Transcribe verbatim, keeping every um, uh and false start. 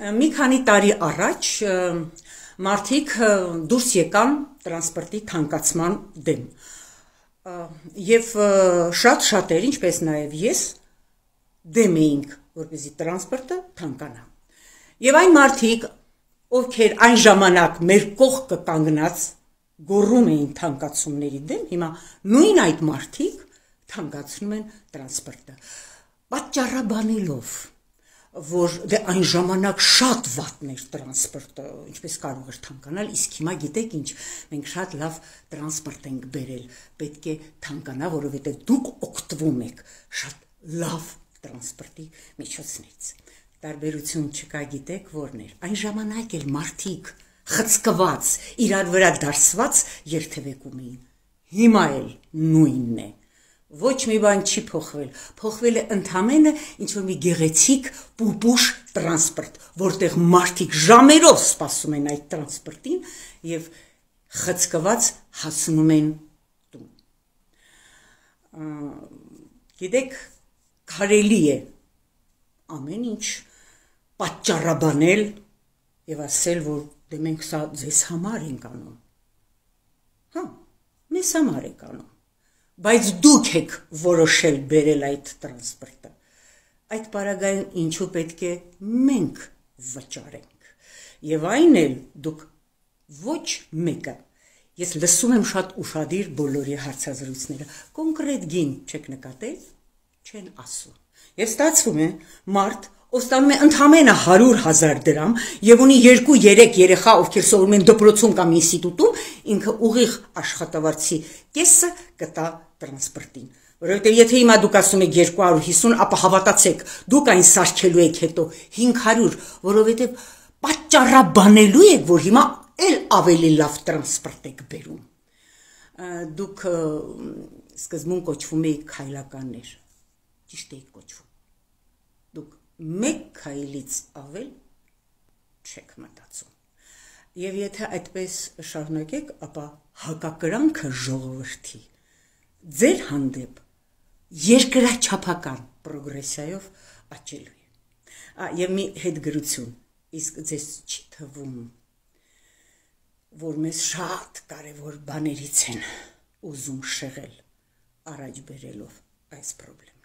Մի քանի տարի առաջ մարդիկ դուրս եկան տրանսպորտի թանկացման դեմ եւ շատ շատեր, ինչպես նաեւ ես, դեմ էինք, որպեսզի տրանսպորտը թանկանա։ Եվ այն մարդիկ, ովքեր այն ժամանակ մեր կողքը կանգնած գոռում էին թանկացումների դեմ, հիմա նույն այդ մարդիկ թանկացնում են տրանսպորտը, պատճառաբանելով, որ դե այն ժամանակ շատ վատն էր տրանսպորտը, ինչպես կարող էր թանկանալ, իսկ հիմա գիտեք ինչ, մենք շատ լավ տրանսպորտ ենք բերել, պետք է թանկանա, որովհետև դուք օգտվում եք շատ լավ տրանսպորտի միջոցներից։ Տարբերություն չկա, գիտեք որն էր, այն ժամանակ էլ մարդիկ խցկված, իրար վրա դարսված երթևեկում էին, հիմա էլ նույնն է։ Ոչ մի բան չի փոխվել, փոխվել է ընդամենը ինչ-որ մի գեղեցիկ պուպուշ տրանսպորտ, որտեղ մարդիկ ժամերով սպասում են այդ տրանսպորտին եւ խցկված հասնում են տուն։ Գիտեք, կարելի է ամեն ինչ պատճառաբանել եւ ասել, որ դե մենք սա ձեզ համար ենք անում։ Հա, մեզ համար ենք անում։ Բայց դուք եք որոշել բերել այդ տրանսպորտը։ Այդ պարագայում ինչու պետք է մենք վճարենք։ Եվ այն էլ դուք ոչ մեկը։ Ես լսում եմ շատ ուշադիր բոլորի հարցազրույցները։ Կոնկրետ գին չեք նկատել, չեն ասում։ Եվ ստացվում է մարդ ով ստանում է ընդամենը հարյուր հազար դրամ եւ ունի երկու երեք երեխա, ովքեր սովորում են դպրոցում կամ ինստիտուտում, ինքը ուղիղ աշխատավարձի կեսը կտա տրանսպորտին, որովհետեւ եթե հիմա դուք ասում եք երկու հարյուր հիսուն, ապա հավատացեք, դուք այն սարքելու եք հետո հինգ հարյուր, որովհետեւ պատճառաբանելու եք, որ հիմա էլ ավելի լավ տրանսպորտ եք բերում։ Դուք սկզբում կոչվում եք քայլականներ, ճիշտ եք կոչվում։ Դուք մեկ քայլից ավել չեք մտածում։ Եվ եթե այդպես շարունակեք, ապա հակակրանքը ժողովրդի ձեր հանդեպ երկրաչափական պրոգրեսիայով աճելու է։ Եվ մի հետգրություն, իսկ ձեզ չի թվում, որ մեզ շատ կարևոր բաներից են ուզում շեղել, առաջ բերելով այս պրոբլեմ։